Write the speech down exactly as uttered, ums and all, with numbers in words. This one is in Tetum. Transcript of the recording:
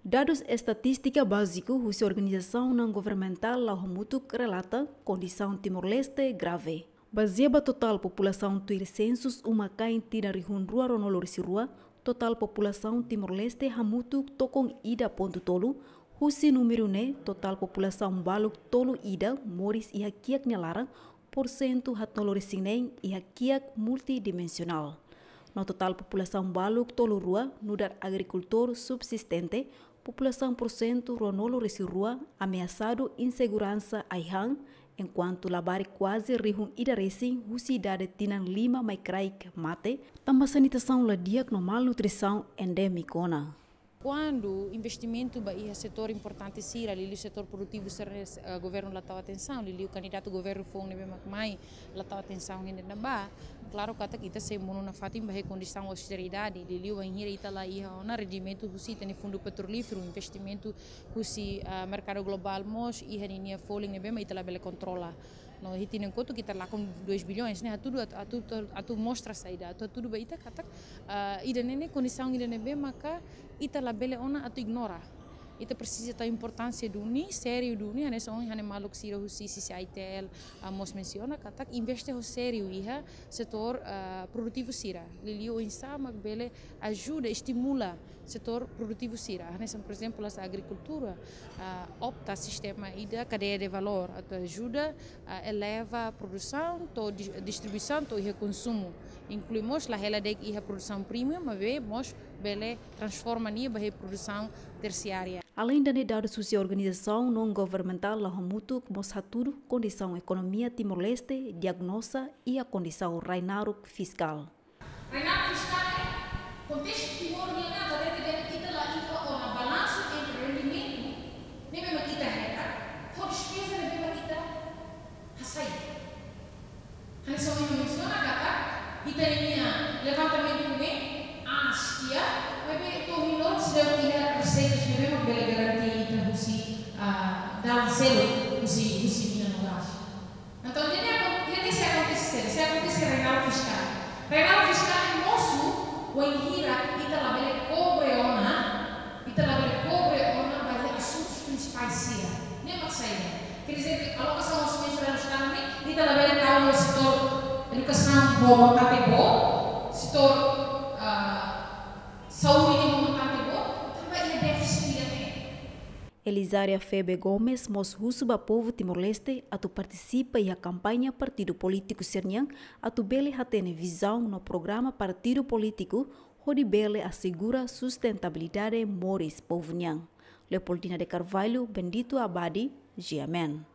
Dadus estatístika báziku husi organizasaun naun governamentál La'o Hamutuk relata kondisaun Timor-Leste grave. Bazeia ba totál populasaun tuir sensus uma-kain tinan rihun rua ruanulu resin rua, totál populasaun Timor-Leste hamutuk tokon ida pontu tolu. Husi númeru ne'e, totál populasaun baluk tolu ida moris iha kiak nia laran, porsentu haatnulu resin neen iha kiak multidimensionál. No totál populasaun baluk tolu rua nu'udar agrikultór subsistente, populasaun porsentu ruanulu resin rua ameasadu inseguransa ai-han, enkuantu labarik kuaze rihun ida resin husi idade tinan lima mai kraik mate, tanba sanitasaun la di'ak no malnutrisaun endémiku ona. Kuandu investimentu ba iha setór importante sira, liuliu setór produtivu sira, eh, governu la tau atensaun, liuliu kandidatu governu foun ne'ebé mak mai la tau atensaun iha ne'ebá. Klaru katak ita sei monu nafatin ba iha kondisaun austeridade, liuliu bainhira ita la iha ona rendimentu husi ita-nia fundu petrolíferu, investimentu husi, ah, merkadu globál mós iha ninia folin ne'ebé mak ita labele kontrola. No iha tinan kotuk ita lakon dois bilhões, ne'e hatudu atu, atu, atu mostra saida, atu hatudu ba ita katak, ah, ida-ne'e ne'e kondisaun ida ne'ebé maka ita labele ona atu ignora. Ita presiza tau importánsia duni, sériu duni, hanesan ohin ha'u-nia maluk sira husi C C I T L, ah, mós mensiona katak investe ho sériu iha setór, ah, produtivu sira. Liuliu oinsá mak bele ajuda, estimula setór produtivu sira. Hanesan, por ezemplu, hanesan agrikultura, ah, opta sistema ida kadeia de valór, atu ajuda, ah, eleva produsaun to'o di-, distribuisaun to'o iha konsumu. Inklui mós la hela de'it iha produsaun primu, maibé mós bele transforma nia ba iha produsaun tersiária. Aleinde ne'e, dadus husi organizasaun naun governamentál La'o Hamutuk mós hatudu kondisaun ekonomia Timor-Leste diagnoza iha kondisaun rai naruk fiskál. Rai naruk fiskál ne'e, kontestu Timor nian ne'e, atu hatete dehan ita la iha ona balansu entre rendimentu ne'ebé mak ita hetan ho despeza ne'ebé mak ita hasai. Hanesan ohin mensiona katak, ita-nia levantamentu ne'e aas tiha, maibé to'o ohin loron seidauk iha reseitas ne'ebé mak bele garante ita husi, ah, dalan seluk husi, husi mina no gás. Entaun, ida-ne'e akon-, ida-ne'e sei akontese, sei akontese rai naruk fiskál. Rai naruk fiskál ne'e mosu bainhira ita labele kobre ona, ita labele kobre ona ba iha asuntus prinsipais sira. Ne'e mak saida? Quer dizer que alokasaun orçamentu rai naruk fiskál ne'e, ita labele tau iha setór edukasaun ho montante boot, setór, ah, saúde ho montante boot, tanba iha défisit ida-ne'e. Elizaria Febe Gomes mós husu ba povu Timor-Leste atu partisipa iha kampaña partidu polítiku sira-nian, atu bele hatene vizaun no programa partidu polítiku, hodi bele asegura sustentabilidade moris povu nian. Leopoldina de Carvalho, Bendito Abadi, G M N.